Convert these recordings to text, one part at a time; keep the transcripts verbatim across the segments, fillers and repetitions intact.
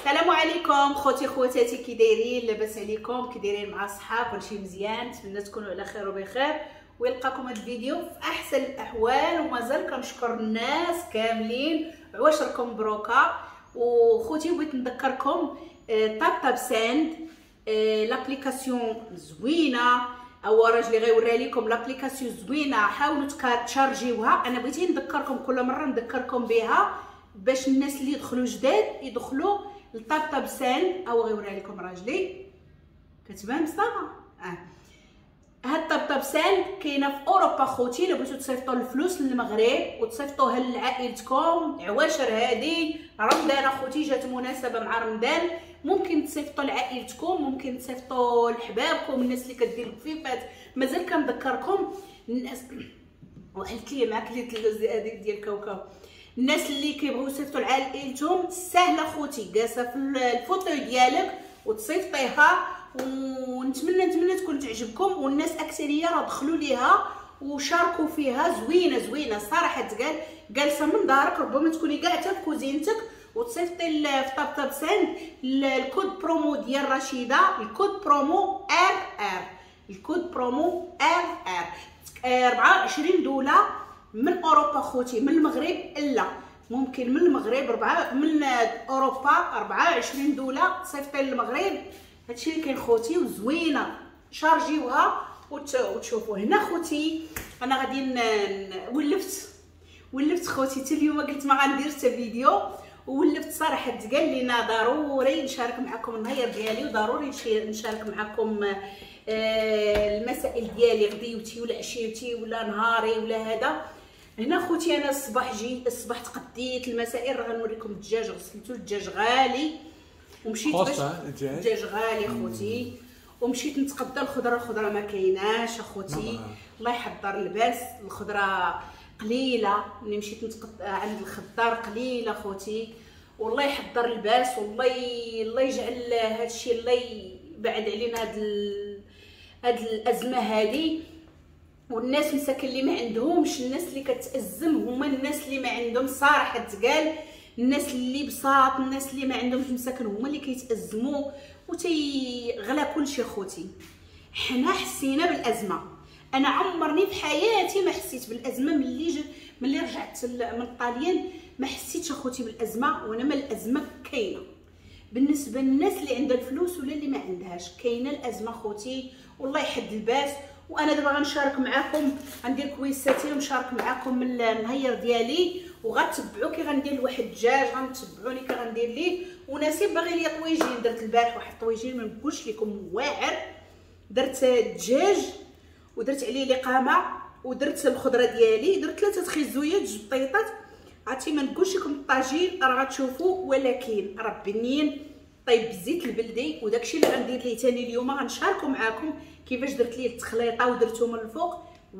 السلام عليكم خوتي خواتاتي، كي دايرين؟ لاباس عليكم؟ كي دايرين مع الصحة؟ كلشي مزيان؟ نتمنى تكونوا على خير وبخير ويلقاكم هذا الفيديو في احسن الاحوال. ومازال كنشكر الناس كاملين، عواشركم مبروكه. وخوتي بغيت نذكركم Taptap Send، l'application زوينة، او راجلي غيوريها لكم l'application زوينة، حاولوا تشارجيوها. انا بغيت نذكركم كل مرة نذكركم بها باش الناس اللي يدخلوا جداد يدخلوا ل Taptap Send. او غيوريها لكم راجلي، كتبان مصطفى. اه هاد Taptap Send كاينه في اوروبا خوتي، الا بغيتو تصيفطوا الفلوس للمغرب وتصيفطوها لعائلتكم، عواشر هادي رمضان اخوتي، جات مناسبة مع رمضان، ممكن تصيفطوا لعائلتكم، ممكن تصيفطوا لحبابكم، الناس اللي كدير الكفيفات. مازال كنذكركم الناس وحلت لي معاك اللي ديال الكاوكاو، الناس اللي كيبغيو يصيفطوا لعائلتهم ساهله خوتي، جالسة في ال fauteuil ديالك وتصيفطيها. ونتمنى نتمنى تكون تعجبكم، والناس اكثرية راه دخلوا ليها وشاركوا فيها، زوينة زوينة صراحة. تقال جالسة من دارك، ربما تكوني كاع حتى في كوزينتك وتصيفطي في Taptap Send ال code promo ديال رشيده، ال code promo R R، ال code promo R R، أربعة وعشرين دولة من اوروبا خوتي، من المغرب لا، ممكن من المغرب ربعة، من اوروبا أربعة وعشرين دولة تصيفطي للمغرب. هادشي اللي كاين خوتي، وزوينه شارجيوها وتشوفوا. هنا خوتي انا غادي ولفت ولفت خوتي حتى اليوم قلت ما غنديرش حتى فيديو، وولفت صراحة تقال لينا ضروري نشارك معكم النهار ديالي، وضروري نشارك معكم المسائل ديالي، غديوتي ولا عشيتي ولا نهاري ولا هذا. هنا خوتي انا الصباح جيت، الصباح تقديت المسائل، راه غنوريكم الدجاج، غسلتو الدجاج غالي ومشيت باش الدجاج غالي خوتي، ومشيت نتقدى الخضرة، الخضرة ما كايناش اخوتي، الله يحضر الباس، الخضرة قليله، ملي مشيت نتقدى عند الخضار قليله خوتي، والله يحضر الباس، والله ي... الله يجعل هادشي، الله يبعد علينا هاد ال... هاد الازمة هادي. والناس مساكن اللي ما عندهمش، الناس اللي كتأزم هما الناس اللي ما عندهم صراحة تقال، الناس اللي بساط، الناس اللي ما عندهمش مساكن هما اللي كيتأزموا وتيغلى كلشي خوتي. حنا حسينا بالازمه، انا عمرني في حياتي ما حسيت بالازمه ملي ج... ملي رجعت من الطاليان ما حسيتش اخوتي بالازمه، وانا ما الازمة كاينه بالنسبة للناس اللي عندها الفلوس ولا اللي ما عندهاش، كاينه الازمة خوتي، والله يحد الباس. وانا دابا غنشارك معاكم، غندير كويساتي ونشارك معاكم النهير ديالي، وغتبعوا كي غندير لواحد الدجاج، غنتبعوني كي غندير ليه. ونسيب باغي ليا طويجين، درت البارح واحد الطويجين ما نقولش لكم واعر، درت الدجاج ودرت عليه لقامه ودرت الخضرة ديالي، درت ثلاثة خيزويات جوج بطيطات، عرفتي ما نقولش لكم الطاجين راه غتشوفوا، ولكن راه بنين طيب بالزيت البلدي. وداكشي اللي غندير ليه ثاني اليوم غنشاركو معاكم كيفاش درت ليه التخليطه ودرتو من الفوق،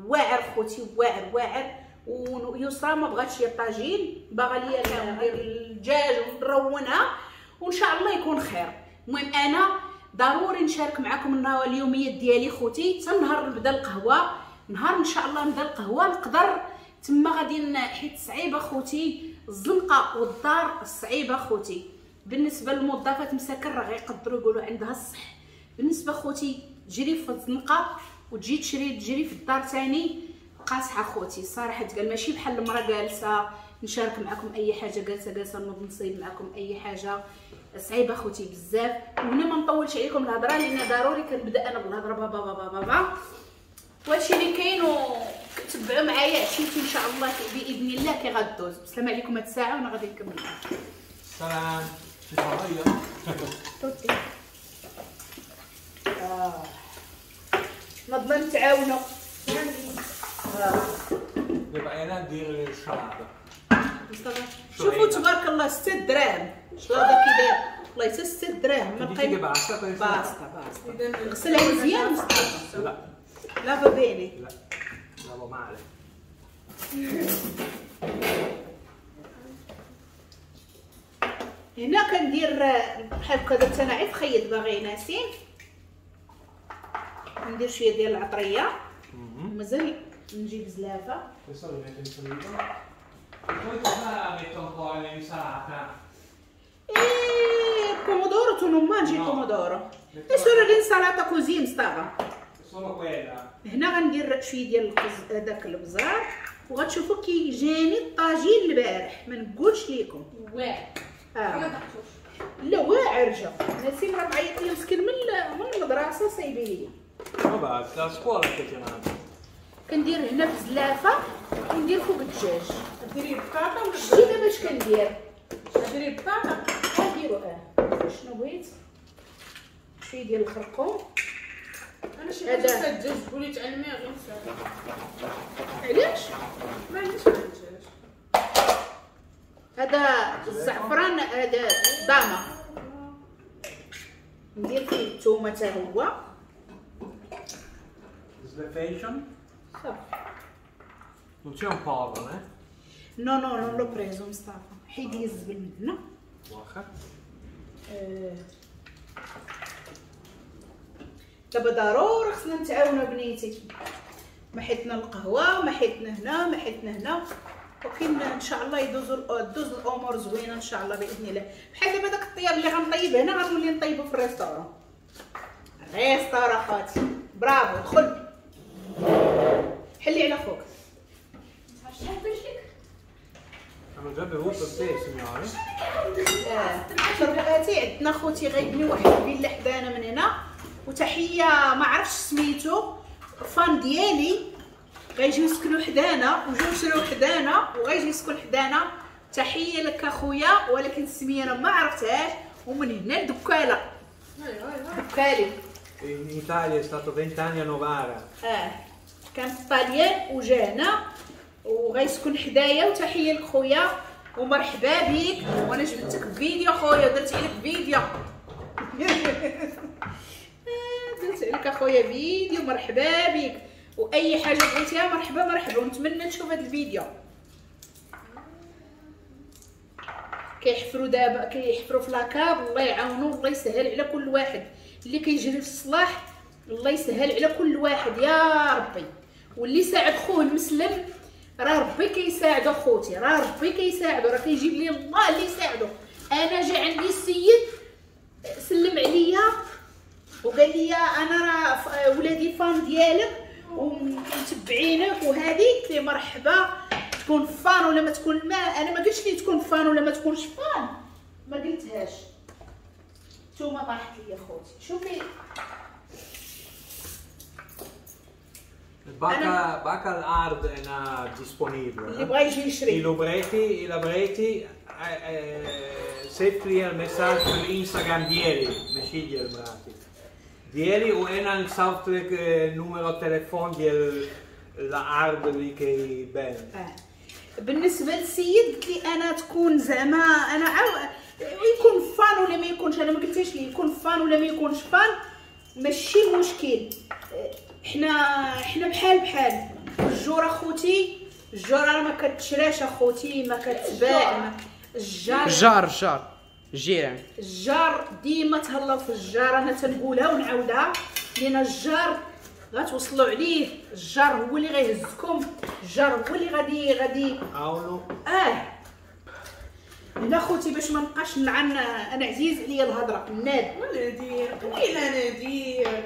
واعر خوتي واعر واعر. ويسرا ما بغاتش ليا الطاجين، باغا ليا ندير الدجاج ونرونها وان شاء الله يكون خير. المهم انا ضروري نشارك معكم النهار اليوميات ديالي خوتي، حتى نهار نبدا القهوة، نهار ان شاء الله نبدا القهوة نقدر تما غادي، حيت صعيبة خوتي الزنقة والدار صعيبة خوتي. بالنسبة للموظفات مساكن راه غيقدروا يقولوا عندها الصح، بالنسبة خوتي تجري في الزنقة وتجي تشري تجري في الدار ثاني قاصحة خوتي صراحة تقال، ماشي بحال المراة جالسة نشارك معكم اي حاجة، جالسة جالسة نوض نصيب معكم اي حاجة، صعيبة خوتي بزاف. وهنا ما نطولش عليكم الهضرة لان ضروري كنبدا انا بالهضره بابا بابا بابا. وهادشي اللي كاين، وتبعوا معايا عشيتي ان شاء الله باذن الله كي غدوز. السلام عليكم هاد الساعة وانا غادي نكمل. سلام. اه نضنا نتعاونوا. دابا انا ندير الشلاضه. شوفوا تبارك الله ستة دراهم الشلاضه كي داير، والله حتى ستة دراهم ما بقينا. basta basta basta، غسلها مزيان مصطفى. لا لا va bene، لا لا male. هنا كندير بحال هكا، درت انا عيد خيط باغي ناسين، ندير شوية ديال العطريه، مازال نجيب زلافه. Questo lo metto in frigo. E poi cosa metto un po' nell'insalata? E mangi il pomodoro. È solo l'insalata così مصطفى. Solo quella. هنا غندير شوية ديال القز هذاك البزار وغتشوفوا كي جاني الطاجين البارح، ما نقولش لكم. واعر. آه. ما ذقتوش. لا واعر جا. نسيم راه معيط لي مسكين من من المدرسة صايبه ليا. Vabbè, la scuola che ti manda. كندير هنا في زلافه وندير فوق الدجاج. ديري بطاطا ولا شتي دابا اش كندير؟ ديري بطاطا غنديرو اه شنو بغيت؟ شوية ديال الخرقوم. انا شي حاجة فيها الدجاج تقولي تعلمي غير نسافر. علاش؟ ما عنديش مع الدجاج. هذا الزعفران هذا ضامه ندير فيه الثومه حتى هو. Slefation? صافي. Non c'è un povero, eh? No no non l'ho preso مصطفى. حيدي الزبل من هنا. واخا. دابا ضروري خصنا نتعاونوا بنيتي، ما حيتنا القهوة ما حيتنا هنا ما حيتنا هنا، ولكن ان شاء الله يدوزوا دوز الامور زوينة ان شاء الله باذن الله. بحال دابا داك الطياب اللي غنطيب هنا غنولي نطيبو في ال restaurant. restaurant خاطي برافو. دخل حلي على خوك. شحال باش لك؟ Hanno già bevuto il tè, signore. شرباتي عندنا خوتي غيبني واحد الفيلا حدانا من هنا، وتحية ما عرفتش سميتو fan ديالي غيجيو يسكنوا حدانا وجاو شراو حدانا وغيجي يسكن حدانا. تحية لك اخويا، ولكن السمية انا ما عرفتهاش. ومن هنا لدكاله دكالي. In Italia è stato vent'anni a Novara. اه كان في الطاليان وجا هنا وغيسكن حدايا. وتحية لك خويا ومرحبا بك. وانا جبتك فيديو خويا ودرت عليك فيديو. درت عليك اخويا فيديو. مرحبا بك، واي حاجة بغيتيها مرحبا مرحبا. ونتمنى تشوف هذا الفيديو. كيحفروا دابا، كيحفروا في la cave. الله يعاونوا، الله يسهل على كل واحد اللي كيجري في الصلاح. الله يسهل على كل واحد يا ربي. واللي ساعد خوه المسلم راه ربي كيساعدو خوتي، راه ربي كيساعدو، راه كيجيب لي الله اللي يساعدو. انا جا عندي السيد سلم عليا وقال لي انا راه ولادي fan ديالك ومتبعينك وهذه. قلت ليه مرحبا، تكون fan ولا ما تكون. ما انا ما قلتش لي تكون fan ولا ما تكونش fan، ما قلتهاش. نتوما طاحت لي خوتي. شوفي باكا باكا الارض انا disponibile. اللي بغا يجي يشري إلا بغيتي إلا بغيتي صيفط لي ال message في الانستغرام ديالي ماشي ديال مراتي ديالي، وانا نصيفط لك numéro تليفون ديال العرض اللي كيبان. آه. بالنسبة للسيد قلت لي انا تكون زعما انا عاو يكون fan ولا ما يكونش. انا ما قلتش لي يكون fan ولا ما يكونش fan، ماشي مشكل. حنا حنا بحال بحال الجوره خوتي. الجوره راه ما كتشراش اخوتي، ما كتباع. الجار الجار الجار الجيران الجار ديما تهلاو في الجار. انا تنقولها ونعاودها لان الجار غتوصلوا عليه. الجار هو اللي غيهزكم، الجار هو اللي غادي غادي عاونوا. اه هنا خوتي باش ما نبقاش نلعن، انا عزيز عليا الهضرة. الناب ولا ندير قليله ندير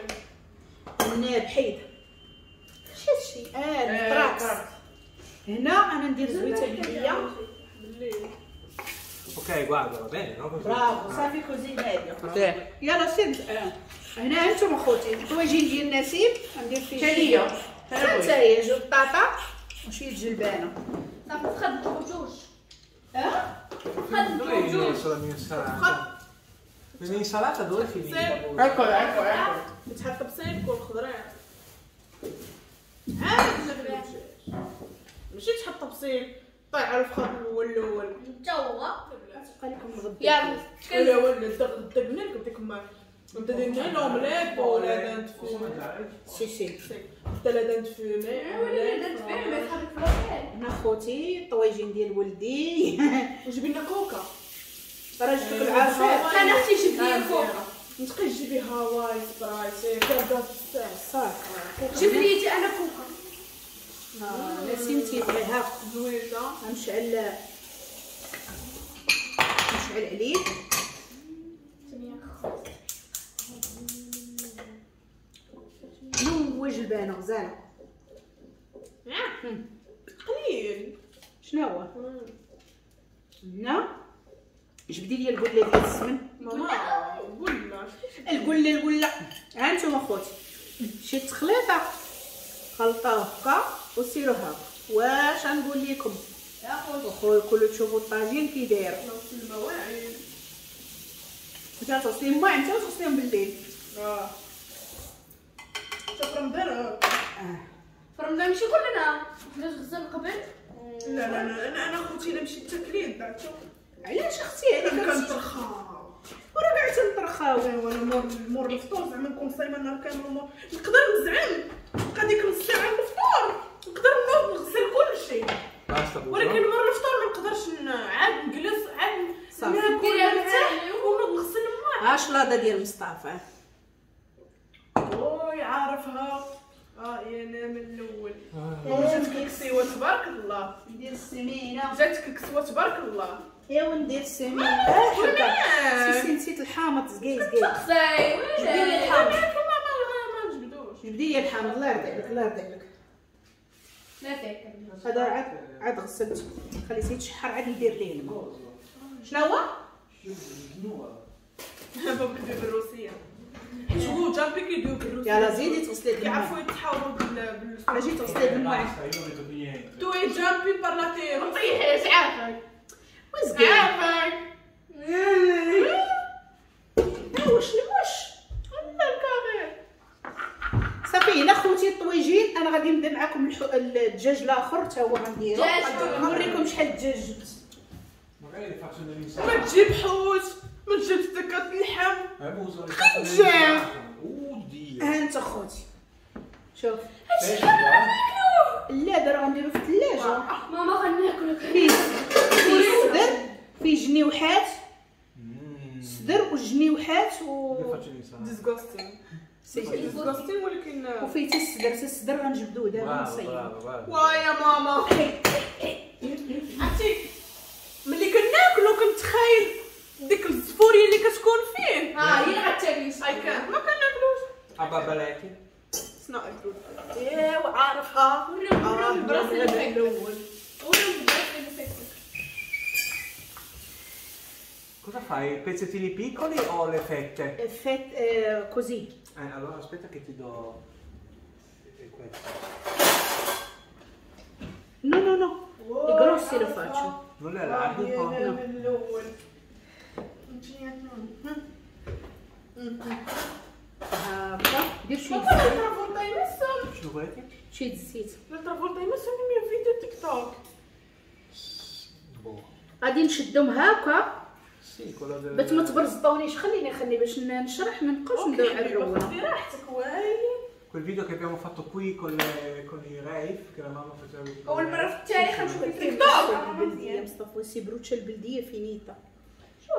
الناب حيد شي هادشي. اه الطراكس هنا انا ندير زويته بالليل. Ok, guarda, va bene, no? Così. برافو صافي così هادي. يلا سير. هنا انتم اخوتي الطواجين ديال نسيم غندير فيه تاليه حتى هي جوج بطاطا وشوية جلبانه. صافي خدمتو جوج. اه خدمتو جوج. L'insalata dove è finita? Ecco, ecco, ecco. بتحط بصيلك والخضره عاد الدجاج ماشي تحط بصيل طيح على الفخذ الاول الاول انت هو تبقى لكم الغدا. يلا ولا ولا دقنا لكم ديك ما انت درنا l'omelette ولا dinde fumée. Sì sì حتى la dinde fumée ولا dinde fumée صحابك في l'hôtel. هنا خوتي الطواجين ديال ولدي. وجيب لنا كوكا راه جبت لك العصير. انا اختي جبت لي كوكا. نتقي جيبي هاواي سبرايت كذا صافي جيب لي انا كوكا. نسيم تيبغيها زوينة. غنشعل نشعل عليه. الجلبانه غزاله. قليل. شنو هو؟ هنا جبدي لي القلة ديال السمن. ماما قلنا القلة القلة. ها انتم اخوتي شي تخليطه خلطوه هكا وسيروا هكا. واش غنقول لكم يا خويا؟ خويا كلو تشوفوا الطاجين كي داير. المواعين انت تغسلي المواعين انت وتغسليهم بالليل. اه شوف رمضان. اه في رمضان ماشي كلنا حنا غسلنا قبل. لا لا لا انا انا خوتي الا مشيت تاكلي بعتو. علاش اختي؟ انا هذيك كنترخى وراه كاع تنترخاو. ايوا انا مور مور الفطور زعما نكون صايمه النهار كامل ومور نقدر نزعم نبقى ديك نص ساعة الفطور نقدر نوض نغسل كلشي، ولكن مور الفطور ما نقدرش عاد نجلس عاد صافي. ناكل نرتاح ونوض نغسل الماء. ها شلاضه ديال مصطفى. وي عارفها. اه يا انا من الاول. جاتك الكسيوه تبارك الله. ندير السمينه. جاتك الكسوة تبارك الله. ايوا ندير السمينه. حكا سي سي نسيت الحامض. زكي زكي تقصي جبدي لي الحامض. ما ما نجبدوش. جبدي لي الحامض الله يرضي عليك الله يرضي عليك. لا تاكل هذا عاد عاد غسلته خليته يتشحر عاد ندير ليه الماء. شنو هو؟ بابا كيدير بالروسيه. شوفوا جامبي كيديروا بالروسيه. يلا زيدي تغسلي الماء. كيعرفوا يتحاوروا بال بال اجي تغسلي الماء. Tu e جامبي parlate ما طيحيش عافاك وزكي عافاك. ها واش واش الله الكاري. صافي هنا خوتي الطويجين انا غادي نبدا معكم الدجاج الاخر حتى هو غنديرو. نوريكم شحال الدجاج جبت. ما تجيب حوت ما تجيب ستكات اللحم. دجاج. ها انت خوتي شوف هادشي كامل غناكلوه. لا دابا غنديرو في الثلاجة. ماما غناكلو. فيه فيه صدر فيه جنيوحات صدر وجنيوحات و disgusting disgusting ولكن وفيه حتى الصدر. حتى الصدر غنجبدوه دابا نصيبو. وا يا ماما عرفتي ملي كناكلو كنتخايل ديك الزفوريه اللي كتكون فيه. ها هي اللي غتاكلي. اي كان ما كناكلوش. ابا بلاكي It's not a good. ايوا عارفها. وريهم البراس اللي فيك. الاول. وريهم البراس اللي فيك. Cosa fai? Pezzettini piccoli o le fette? Fette eh, così. Eh, allora aspetta che ti do questo. No, no, no. I grossi lo faccio. Non le allarghi un po'? No. هاكا دير شوية l'altra volta hai messo شنو بغيتي؟ شوية الزيت. L'altra volta hai messo il mio video TikTok. غادي نشدهم هاكا باش ما تبرزطونيش. خليني خليني باش نشرح ما نبقاوش ندوي على الروله. خدي راحتك وايلي. Quel video che abbiamo fatto qui con le, con i rave che la mamma faceva. اول مرة في التاريخ نشوف تيك توك. البلدية مصطفى si brucia البلدية finita.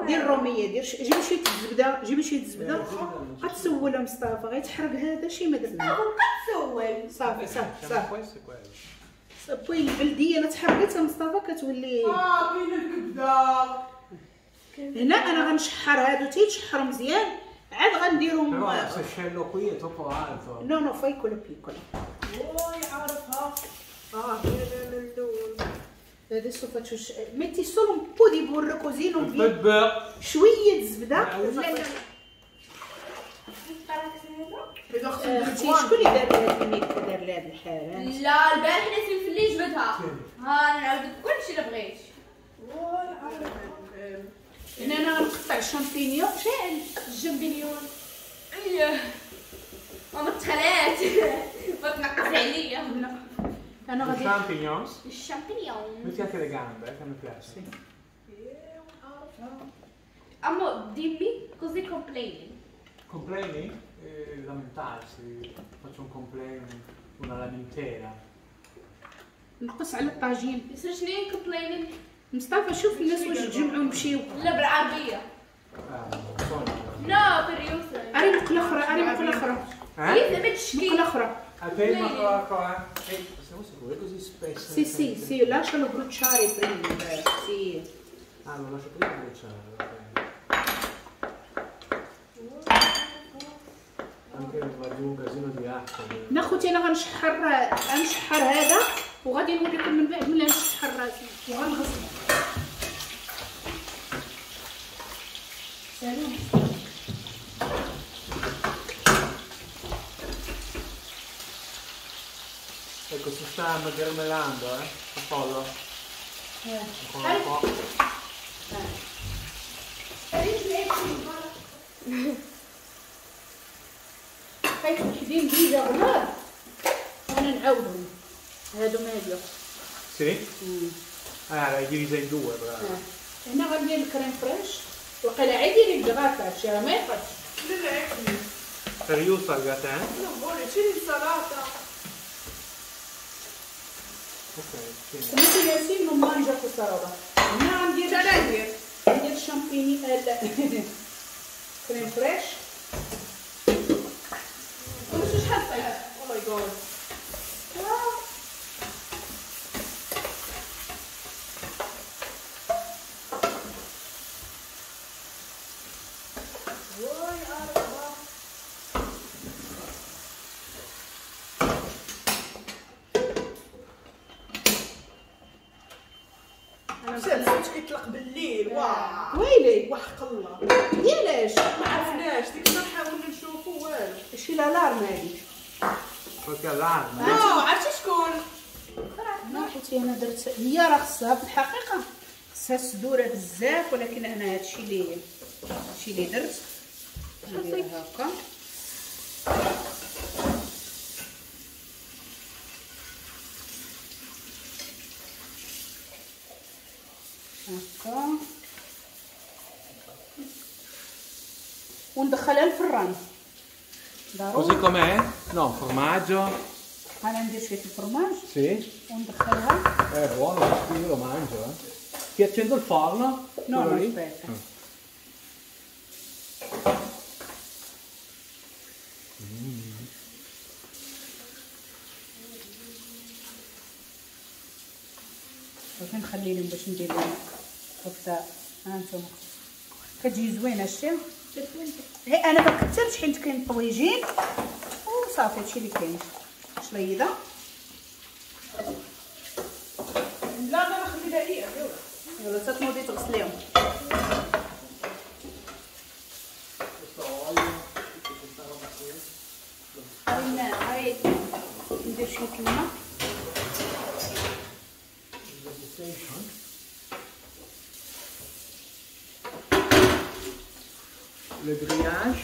دير الرومية دير ش... جيبي شوية الزبدة جيبي شوية الزبدة. غتسولها مصطفى غيتحرق هذا شي ما درنا. بقى تسول صافي صافي صافي. poi البلدية لا تحرقت مصطفى كتولي اه كاينه الكبده. هنا انا غنشحر هادو تيتشحروا مزيان عاد غنديرهم. Però se scello qui è troppo alto. No no fai quello piccolo. وي عارفها. اه كاينه من الاول. Adesso faccio metti solo un po' di burro così non vi شوية زبدة. لا لا اختي شكون اللي دار لها هاد الميك دار لها هاد الحالة؟ لا البارح نسيم في الليل جبدها. ها انا نعاود لك كلشي الا بغيت. هنا انا غنقطع الشامبينيون. شاعل الشامبينيون. اييه ماما تخلات ما تنقص عليا. انا غادي ال champignons الشامبينيون. Metti anche le gambe, eh, che mi piace. Sì. Amo, dimmi cos'è complaining. Complaining? Eh, lamentarsi. Faccio un complain, una lamentela. نقص على الطاجين. يصير شنو complaining؟ مصطفى شوف الناس واش تجمعوا ومشيو. لا بالعربية. آه، لا بالريوسة. اري مقلة اخرى اري مقلة اخرى. إيه زعما تشكي. مقلة اخرى. Ferma qua, qua. Eh, siamo sicuri così spesso? Sì, sì, sì, lascialo bruciare prima. Sì. Ah, lo lascio prima bruciare, ok. Anche نا خوتي انا غنشحر غنشحر هذا وغادي نوريكم من بعد ملي نشحر راسي وغنغسل. سلام. Ecco, si sta marmellando, eh, il pollo. Eh. Ancora un po'. حيت وحدين déjà غلاد انا نعاودهم هادو ماليو. Sì? Ah, l'hai divisa in due, bravo. هنا غندير ال crème fraîche وقيلا عادي ديري الكغاتا هادشي راه ما يقدش. لا لا عادي. Per giusto al gratin? Non vuole, c'è l'insalata. Ok, sì. Comunque Yassine non mangia questa roba. هنا غندير انا ندير ندير الشامبيني crème fraîche. وش شحال طيب؟ oh my God. الصوت كيطلق بالليل. واه ويلي وحق الله ديالاش ما عرفناش ديك النهار حاولنا نشوفو والو. شي l'alarme هادي qualche allarme. لا عرفتي شكون؟ لا حيت انا درت هي راه خصها في الحقيقة خصها الصدوره بزاف، ولكن انا هادشي اللي هادشي اللي درت ندير هكا. هكا وندخلها الفران. Così com'è? No, formaggio. انا ندير شوية الفرماج. Sì. وندخلها. È buono, io lo mangio, eh. Ti accendo il forno? No, no, aspetta. صافي نخلي لهم باش ندير لهم كفته. ها انتم كتجي زوينة شتي. غير انا ما كثرتش حيت كاين طويجين وصافي هادشي اللي كاين. شليضه لا لا خليها ليا. يلا تتنوضي تغسليهم. هاي ندير شوية الماء. Le grillage.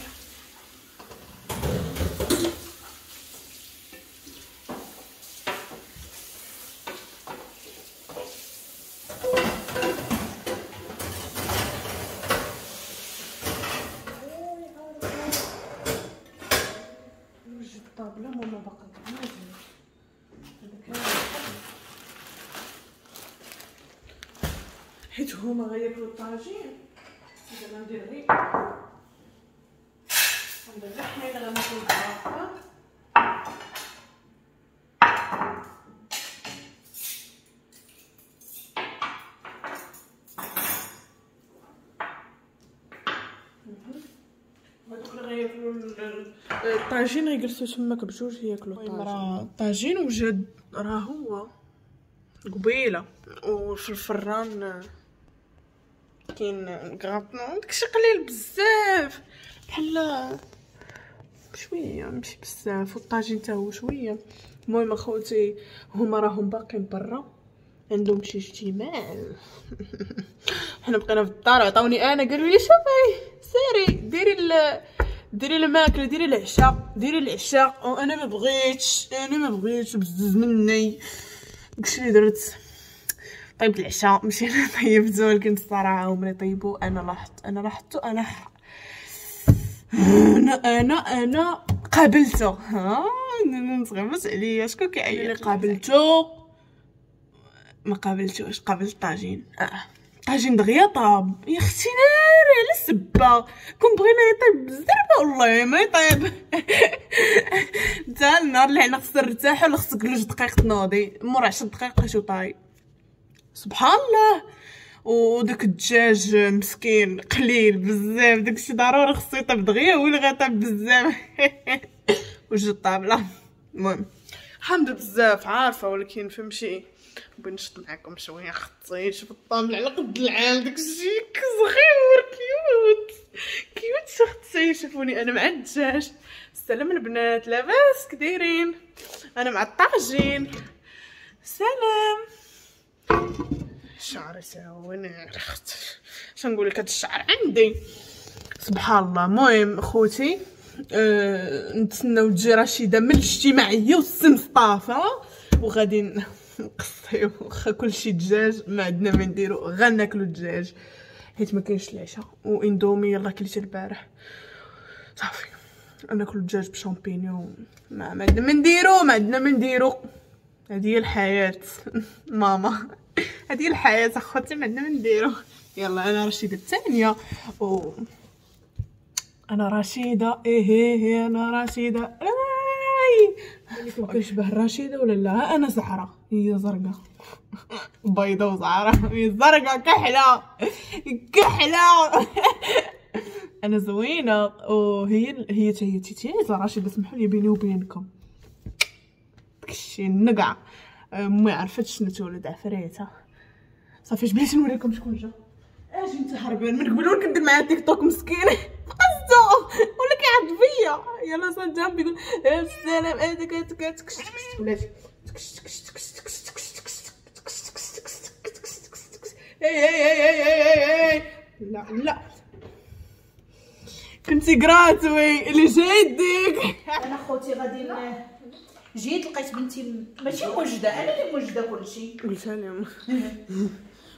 نوجد الطابلة ماما باقا كامل. حيت هما غياكلوا الطاجين دابا ندير غير ندير غير حنا الا غناكلو الكرافه. هادوك اللي غياكلو الطاجين غيجلسو تماك بجوج ياكلو الطاجين. راه الطاجين وجد راه هو قبيلة وفي الفران كاين كغاطون داكشي قليل بزاف بحال شوية ماشي بزاف، والطاجين حتى هو شوية. المهم اخوتي هما راهم باقيين برا عندهم شي اجتماع. حنا بقينا في الدار عطاوني انا قالوا لي شوفي سيري ديري ال... ديري الماكلة ديري العشاء ديري العشاء، وانا ما بغيتش انا ما بغيتش بزز مني. داكشي اللي درت طيبت العشاء ماشي انا طيبته، ولكن الصراحة هما اللي طيبوا. انا لاحظت انا لاحظته انا انا انا انا قابلته. ها نتغمس عليا شكون كيعيط اللي قابلته؟ ما قابلتوش، قابلت الطاجين. اه الطاجين دغيا طاب يا اختي ناري على السبه. كون بغينا يطيب بالزربه والله ما يطيب. حتى النهار اللي حنا خصنا نرتاحو ولا خصك جوج دقائق تنوضي مور عشر دقائق شو طايب. سبحان الله. وداك الدجاج مسكين قليل بزاف، داكشي ضروري خصو يطيب دغيا، هو اللي غيطيب بزاف. وجد الطابله. المهم حامضه بزاف عارفه، ولكن فهمتي بغيت نشط معاكم شوية. خطي شوف الطابله على قد العام، داكشي صغير cute cute. اختي شوفوني انا مع الدجاج. السلام البنات، لاباس كدايرين؟ انا مع الطاجين. سلام. شعري ساوني اختي، اش نقول لك، هاد الشعر عندي سبحان الله. المهم خوتي أه نتسناو تجي رشيده من الاجتماعية والسي مصطفى وغادي نقصيو. واخا كلشي دجاج ما عندنا ما نديرو، غناكلو الدجاج حيت ما كاينش العشاء. واندومي يلاه كليت البارح صافي. ناكلو الدجاج بشامبينيون، ما عندنا ما نديرو، ما عندنا ما نديرو. هذه هي الحياة ماما، هذه هي الحياة اخوتي، ما عندنا ما نديرو. يلا انا رشيده الثانية، و انا رشيده ايه ايه انا رشيده. اي كنشبه رشيده ولا لا؟ انا زعره، هي زرقاء بيضة وزعره، هي زرقاء كحلة كحلة. انا زوينة وهي هي هي تيتيزه رشيده. سمحوا لي بيني وبينكم داكشي النقعه، امي عرفت شنو تولد عفريته. صافي بغيت نوريكم شكون جا. اجي انت هربان من قبل، ولا كندير معاه تيك توك مسكين قصدو ولا كيعض فيا. يلا صدام بيقول السلام هذاك تكش تكش ولاتي تكش تكش تكش تكش تكش تكش تكش تكش تكش تكش تكش. اي اي اي اي اي لا لا كنتي gratuit اللي جاي يديك. انا خوتي غادي جيت لقيت بنتي ماشي موجده، انا اللي موجده كلشي. قلتها لهم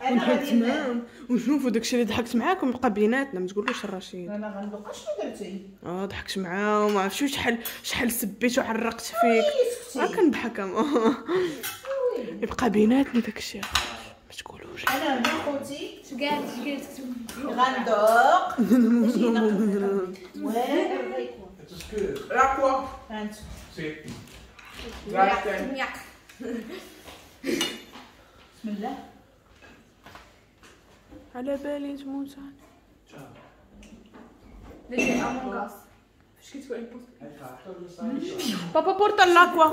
انا غادي معاهم ونشوفوا داكشي اللي ضحكت معاكم بقى بيناتنا، ما تقولوش الرشيد. انا غندوق اشنو درتي. اه ضحكت معاهم، ما عرفتش شحال شحال سبيت وعرقت فيك. راه كنضحك يبقى بيناتنا داكشي، ما تقولوش. انا هنا خوتي اش قالت اش قالت غندوق واعر غيكون. L'acqua. Sì. بسم الله. على بالي تموت. درتي Among Us فاش كتقول بابا porta l'acqua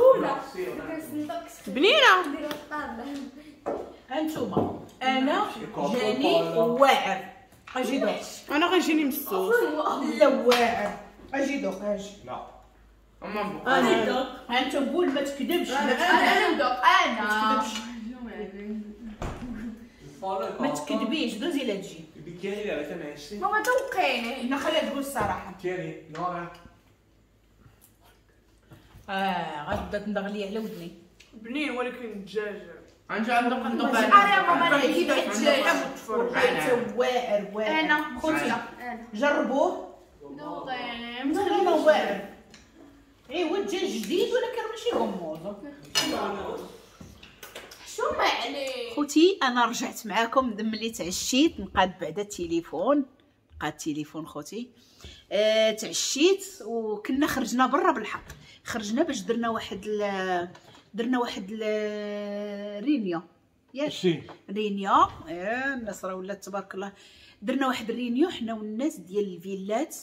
بنينه. انتوما انا جاني واعر. اجي دوق. انا غيجيني مسوس. لا واعر. اجي دوق اجي. لا انا دوق. انت قول ما تكذبش. انا ندوق انا ما تكذبش. ما تكذبيش. دوزي لا تجي. I bicchieri li avete messi? ماما دوقيني. انا خليها تقول الصراحة. Tieni, Nora. اه غتبدا تندغ لي على ودني. بنين ولكن الدجاج عندي عندك ندوق. انا ماما انا كيف الدجاج واعر واعر. انا خوتي جربوه. دوقيني. لا واعر. ايوا الدجاج جديد ولكن ماشي غموض. شو ما عليك خوتي. انا رجعت معاكم ملي تعشيت. نقاد بعدا التليفون، نقاد التليفون خوتي. آه تعشيت وكنا خرجنا برا بالحق. خرجنا باش درنا واحد ال... درنا واحد ال... réunion ياك réunion. آه الناس راه ولات تبارك الله. درنا واحد ال réunion حنا والناس ديال الفيلات،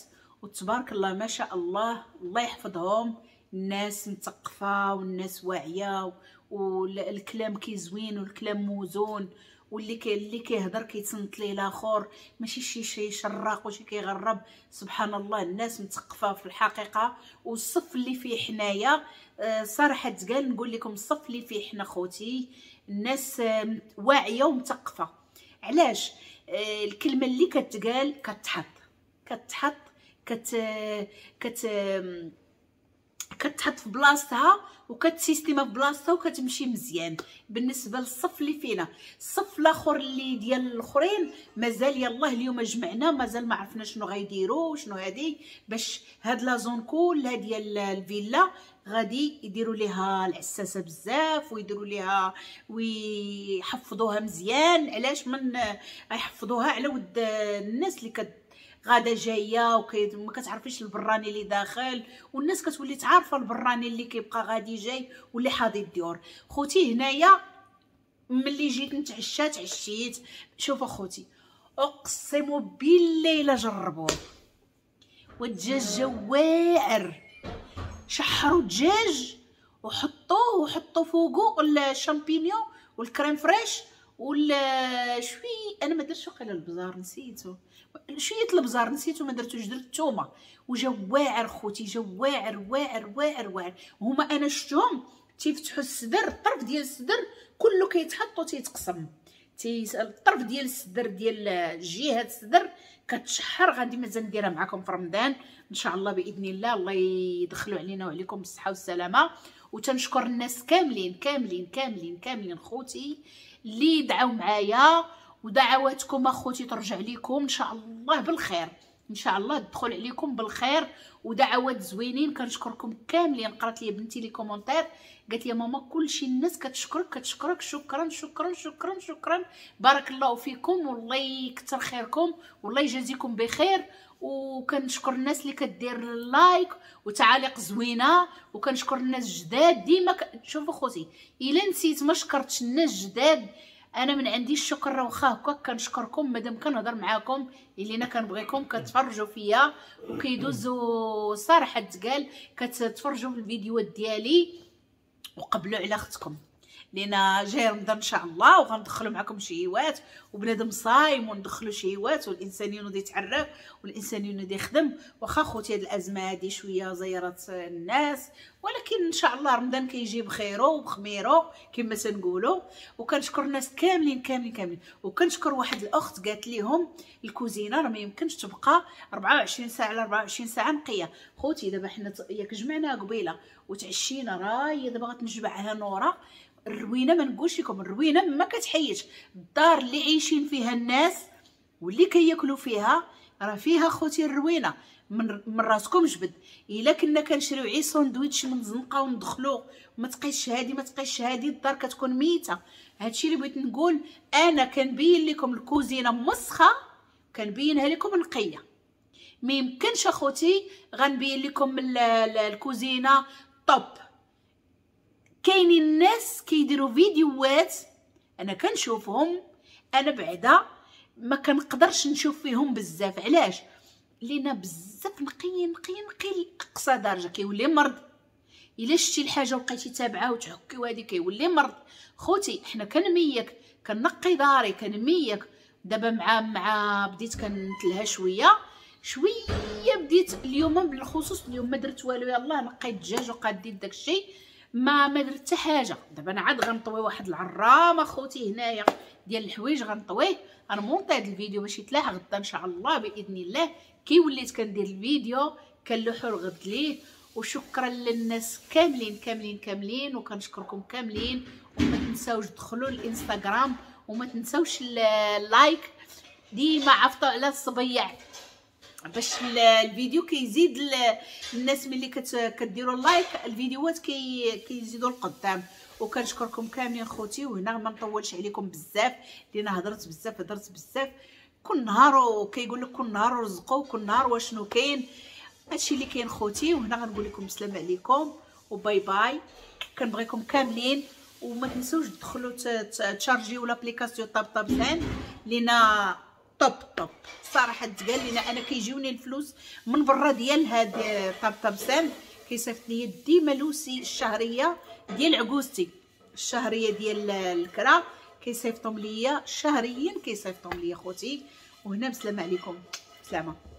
وتبارك الله ما شاء الله، الله يحفظهم. الناس مثقفة والناس واعية، والكلام كيزوين والكلام موزون، واللي كي اللي كيهضر كيتصنت ليه الاخر، ماشي شي شي شراق وشي كيغرب. سبحان الله الناس مثقفة في الحقيقة. والصف اللي فيه حنايا صراحة تقال نقول لكم الصف اللي فيه حنا خوتي الناس واعية ومثقفه. علاش؟ الكلمة اللي كتقال كتحط كتحط كت كت كتحط في بلاصتها وكتسيستيما في بلاصتها وكتمشي مزيان. بالنسبة للصف اللي فينا، الصف الاخر اللي ديال الاخرين مازال يلاه اليوم جمعنا، مازال ما عرفنا شنو غيديروا شنو هادي، باش هاد la zone كلها ديال الفيلا غادي يديروا ليها العساسه بزاف ويديروا ليها ويحفظوها مزيان. علاش من يحفظوها؟ على ود الناس اللي كت غادا جاية وما كتعرفيش البراني اللي داخل، والناس كتولي تعرف البراني اللي كيبقى غادي جاي واللي حاضي الديور. خوتي هنايا ملي جيت نتعشى تعشيت. شوفوا خوتي اقسم بالله الا جربوه، والدجاج واعر. شحروا الدجاج وحطوه وحطوا فوقو ال champignons وال crème fraîche ولا شوي، انا ما درتش وقيله البزار نسيتو، شوية البزار نسيتو ما درتوش، درت الثومه وجا واعر خوتي، جا واعر واعر واعر واعر. هما انا شفتهم تيفتحوا الصدر، الطرف ديال الصدر كله كيتحط وتيتقسم، تي الطرف ديال الصدر ديال جهة الصدر كتشحر. غادي مازال نديرها معكم في رمضان ان شاء الله باذن الله، الله يدخلوا علينا وعليكم بالصحة والسلامة. وتنشكر الناس كاملين كاملين كاملين كاملين خوتي اللي دعاو معايا، ودعواتكم اخوتي ترجع لكم ان شاء الله بالخير، ان شاء الله تدخل عليكم بالخير ودعوات زوينين. كنشكركم كاملين. قرات لي بنتي les commentaires قالت لي ماما كلشي الناس كتشكرك كتشكرك، شكرا شكرا شكرا شكرا، بارك الله فيكم والله يكثر خيركم والله يجازيكم بخير. وكنشكر الناس اللي كدير like وتعاليق زوينة، وكنشكر الناس جداد ديما. ك... شوفوا خوتي الا نسيت ما شكرتش الناس جداد، انا من عندي الشكر راه واخا هكا كنشكركم مادام كنهضر معاكم، اللي انا كنبغيكم كتفرجوا فيا وكيدوزوا صراحة تقال كتفرجوا في الفيديوهات ديالي وقبلوا على اختكم، لان جاي رمضان ان شاء الله وغندخلوا معكم شهيوات، وبنادم صايم وندخلوا شهيوات، والانسان ينوض يتعرف والانسان ينوض يخدم. واخا خوتي هاد الازمة هادي شوية زيرات الناس، ولكن ان شاء الله رمضان كيجي بخيرو وبخميرو كما تنقولوا. وكنشكر الناس كاملين كاملين كاملين. وكنشكر واحد الاخت قالت لهم الكوزينة راه ما يمكنش تبقى أربعة وعشرين ساعة على أربعة وعشرين ساعة نقية. خوتي دابا حنا ياك جمعنا قبيلة وتعشينا، راهي دابا غتنجمعها نوره الروينه، ما نقولش لكم الروينه ما كتحيدش. الدار اللي عايشين فيها الناس واللي كياكلوا فيها راه فيها خوتي الروينه من من راسكم جبد. الا كنا كنشريو عي ساندويتش من زنقه وندخلو ما تقيش هادي ما تقيش هادي، الدار كتكون ميته. هادشي اللي بغيت نقول، انا كنبين لكم الكوزينة مسخه كنبينها لكم نقية، ما يمكنش اخوتي غنبين لكم الكوزينة top. كاينين الناس كيديروا فيديوهات انا كنشوفهم، انا بعدا ما كنقدرش نشوف فيهم بزاف. علاش؟ لينا بزاف نقي نقي نقي لاقصى درجه، كيولي مرض. الا شتي الحاجة وبقيتي تابعه وتحكي وهادي كيولي مرض. خوتي حنا كنميك كنقي داري كنميك. دابا مع مع بديت كنتلها شوية شوية، بديت اليوم بالخصوص اليوم ما درت والو، يلاه نقيت الدجاج وقاديت داكشي، ما ما درت حتى حاجة. دابا انا عاد غنطوي واحد العرامه خوتي هنايا ديال الحوايج غنطويه، غنمونطي هذا الفيديو باش يتلاح غدا ان شاء الله باذن الله. كي وليت كندير الفيديو كنلوحو الغد ليه. وشكرا للناس كاملين كاملين كاملين، وكنشكركم كاملين. وما تنساوش تدخلوا الانستغرام وما تنساوش ال like، ديما عفطوا على الصبيع باش الفيديو كيزيد الناس ملي كديروا like الفيديوهات كي كيزيدوا القدام. وكنشكركم كاملين خوتي. وهنا ما نطولش عليكم بزاف لان هضرت بزاف هضرت بزاف. كل نهار كيقول لك كل نهار رزقوا كل نهار واشنو كاين، هادشي اللي كاين خوتي. وهنا غنقول لكم السلام عليكم و bye bye، كنبغيكم كاملين. وما تنسوش تدخلوا تشارجيو l'application Taptap Send لينا top top صراحة تقال لينا. انا كيجيوني الفلوس من برا ديال هاد Taptap Send، كيصيفط لي ديما لوسي الشهرية ديال عكوزتي، الشهرية ديال الكرا كيصيفطهم ليا شهريا، كيصيفطهم ليا خوتي. وهنا بسلامه عليكم، سلامه.